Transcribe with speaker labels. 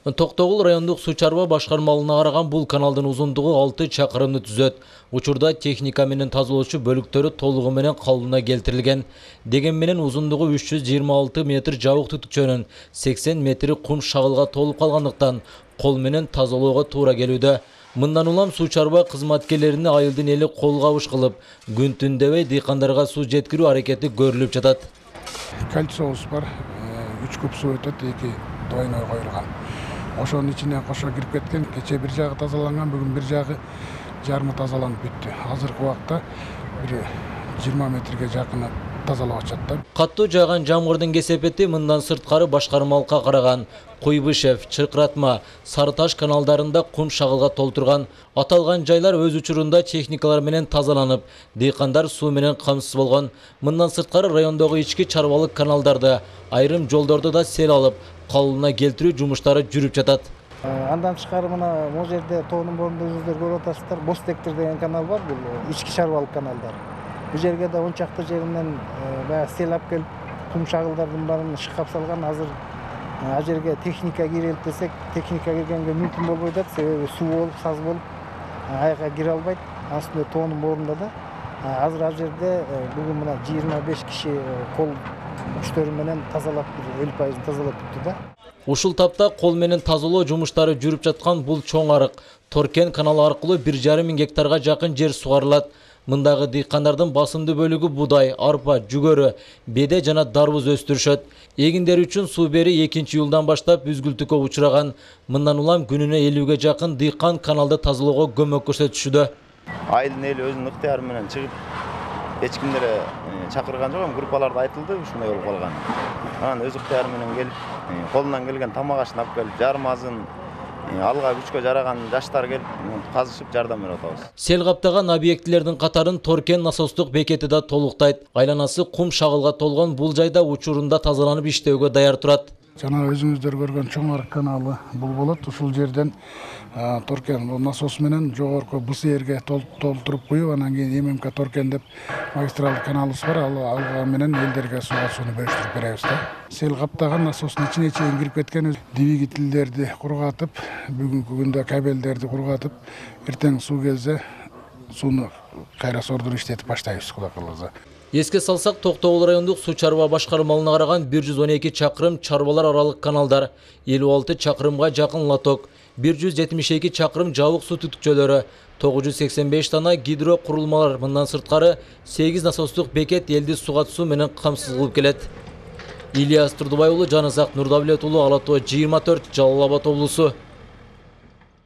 Speaker 1: Токтогул райондук суу чарба башкармалыгына караган бул каналдын узундугу 6 чакырымды түзөт. Учурда техника менен тазалоочу бөлүктөрү толугу менен калыбына келтирилген. Деген менен узундугу 326 метр жабык түтүкчөнүн 80 метри кум шагылга толуп калгандыктан кол менен тазалоого туура келүүдө. Мындан улам суу чарба кызматкерлерине айылдын эли кол кабыш кылып, күн түн дебей дыйкандарга суу жеткирүү аракети көрүлүп жатат.
Speaker 2: Кольцобуз бар, 3 куб суу өтөт, 2 двойной коюлган. Ошонун ичине кошо кирип кеткен. Кече бир жагы тазаланган, бүгүн бир жагы жарымы тазаланып бүттү. Азыркы убакта бир 20 метрге жакын тазалап атышат.
Speaker 1: Каттуу жааган жамгырдын кесепети мындан сырткары башкармалыкка караган Куйбышев, Чыркыратма, Сарыташ каналдарында кум шагылга толтурган. Аталган жайлар өз учурунда техникалар менен тазаланып, дыйкандар суу менен камсыз болгон. Мындан сырткары райондогу ички чарбалык каналдарды, айрым жолдорду да сел алып, калыбына келтирүү жумуштары жүрүп жатат.
Speaker 3: Андан тышкары мына могу жерде тоонун борунда өзүңүздөр көрүп атасыздар. Бостектер деген канал бар, бул ички чарбалык каналдар. Бул жерге да 10 чакты жеринен баягы сел алып келип, кум шагылдардын баарын шыкап салган. Азыр ал жерге техника кирелик десек, техника киргенге мүмкүн болбой атат, себеби суу болуп, саз болуп, аяка кире албайт. Астында тоонун борунда да. Азыр ал жерде бүгүн мына 25 киши кол күчтөрү менен тазалап, 50% тазалап бүттү да.
Speaker 1: Ушул тапта кол менен тазалоо жумуштары жүрүп жаткан бул чоң арык Торкен каналы аркылуу 1,5 миң гектарга жакын жер сугарылат. Мындагы дыйкандардын басымдуу бөлүгү будай, арпа, жүгөрү, беде жана дарбыз өстүрүшөт. Эгиндер үчүн суу бери 2-июлдан баштап үзгүлтүккө учураган. Мындан улам күнүнө 50ге жакын дыйкан каналды тазалоого көмөк көрсөтүшүдө.
Speaker 4: Айылдын эли өзүнүн ыктыяры менен чыгып, эч кимдер чакырган жок, группаларда айтылды ушундай болуп калган. Анан өз ыктыяры менен келип, колунан келген тамак ашын алып келип, жарым азын алга күчкө жараган жаштар келип, казышып жардам берип атабыз.
Speaker 1: Сел каптаган объектилердин катарын Торкен насостук бекети да толуктайт. Айланасы кум шагылга толгон бул жайда учурунда тазаланып иштөөгө даяр турат.
Speaker 2: Жана өзүңүздөр көргөн чоң арык каналы бул болот. Ушул жерден Торкен насос менен жогорку БСРге толтуруп куюп, анан кийин ММК Торкен деп магистралдык каналыбыз бар. Ал менен элдерге сууну бөлүштүрүп беребиз да. Сел каптаган насостун ичине чейин кирип кеткен двигательдерди кургатып, бүгүнкү күндө кабелдерди кургатып, эртең суу келсе сууну кайра сордуруп иштетип баштайбыз, Кудай кааласа.
Speaker 1: Эске салсак, Токтогул райондук суу чарба башкармалыгына караган 112 чакырым чарбалар аралык каналдар, 56 чакырымга жакын лоток, 172 чакырым жабык суу түтүкчөлөрү, 985 дана гидро курулмалар, мындан сырткары 8 насостук бекет элди суга суу менен камсыз кылып келет. Ильяс Турдубай уулу, Жаназак Нурдавлет уулу, Ала Тоо 24, Жалал Абад облусу.